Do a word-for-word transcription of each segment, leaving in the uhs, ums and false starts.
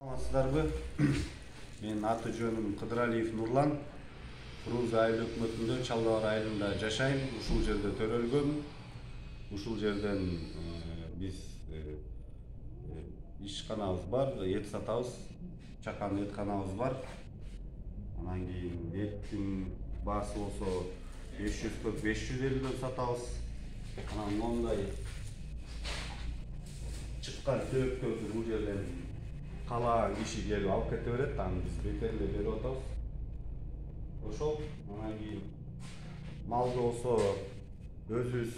Саламатсыздарбы? Мен аты жөнүм Кыдыралиев Нурлан. Фрунзе айыл өкмөтүндө Чалдыбар айылында жашайм. Ушул жерде төрөлгөм. Ушул жерден биз ишканабыз бар, эт сатабыз. Чакан этканабыз бар. Анан кийин эттин баасы болсо беш жүзгө беш жүз элүүдөн сатабыз. Анан мондай чыккан сөөктөрдү бул жерден каалаган киши келип алып кете берет. Аны биз бекерде берип атабыз. Ошол. Анан кийин малды болсо өзүбүз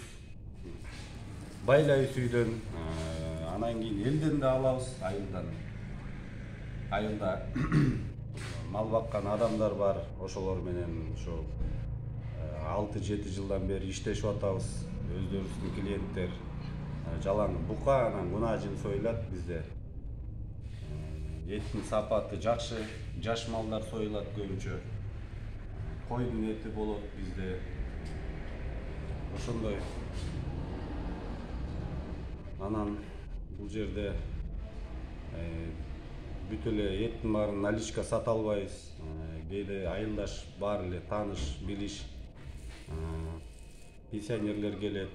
байлайбыз үйдөн. Анан кийин элден да алабыз, айылдан. Айылда мал баккан адамдар бар. Ошолор менен ошо алты жети жылдан бери иштешип атабыз. Өздөрүбүздүн клиенттер жалаң бука, анан кунажын союлат бизде. Эттин сапаты жакшы, жаш малдар союлат көбүнчө. Койдун эти болот бизде. Ошондой. Анан бул жерде бүт эле эттин баарын наличка сата албайбыз. Кээде айылдаш бар эле тааныш, билиш пенсионерлер келет.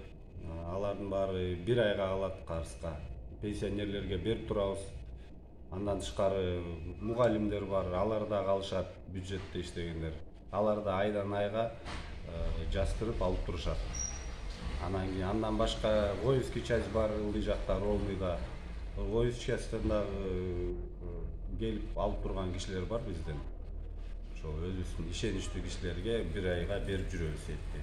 Алардын баары бир айга алат карызга. Пенсионерлерге берип турабыз. Андан тышкары мугалимдер бар, алар да калышат, бюджетте иштегендер. Алар да айдан айга жаздырып алып турушат. Анан кийин андан башка воинский часть бар ылдый жакта, Ровныйда. Воинский частьтан дагы келип алып турган кишилер бар бизден. Ошо өзүбүздүн ишеничтүү кишилерге бир айга берип жүрөбүз этти.